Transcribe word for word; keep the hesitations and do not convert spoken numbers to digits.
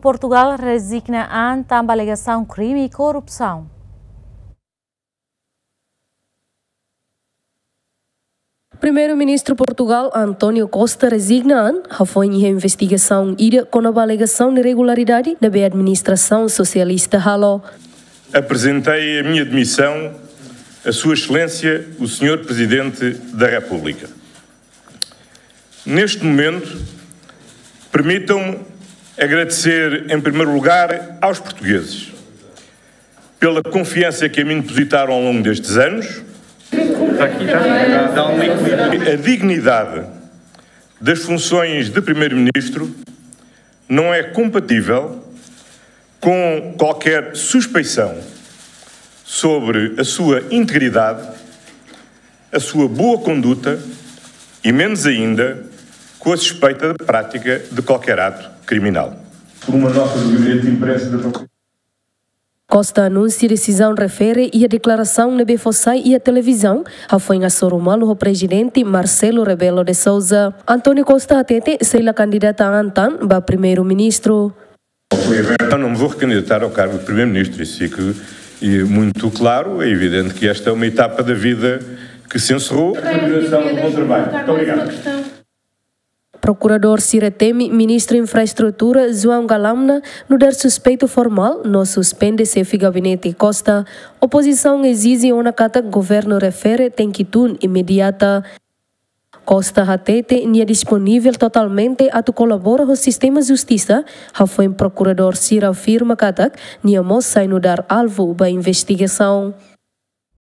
Portugal rezigna an tanba alegasaun krime korrupsaun. Primeiru-Ministru Portugal, António Costa, rezigna an hafoin iha investigasaun ida kona-ba alegasaun irregularidade ne'ebé administrasaun sosialista halo. Apresentei a minha demissão a Sua Excelência, o Senhor Presidente da República. Neste momento, permitam-me agradecer, em primeiro lugar, aos portugueses pela confiança que a mim depositaram ao longo destes anos. A dignidade das funções de Primeiro-Ministro não é compatível com qualquer suspeição sobre a sua integridade, a sua boa conduta e, menos ainda, com a suspeita da prática de qualquer ato criminal. Por uma nota do Gabinete de Imprensa da Costa anunsia desizaun refere iha deklarasaun ne'ebé fó sai iha televizaun hafoin hasoru malu ho Prezidente Marcelo Rebelo de Sousa. António Costa hatete sei la kandidata an tan ba Primeiru-Ministru. Eu não me vou recandidatar ao cargo de Primeiro-Ministro, isso fica, eh, muito claro. É evidente que esta é uma etapa da vida que se encerrou. Continuação do bom trabalho. Muito obrigado. Prokuradór sira temi Ministru Infraestrutura João Galamba nu'udar suspeitu formál no suspende xefe gabinete Costa. Opozisaun ezije ona katak governu refere tenke tun imediata. Costa hatete nia disponivel totalmente atu kolabora ho sistema justisa, hafoin prokuradór sira afirma katak nia mós sai nu'udar alvu ba investigasaun.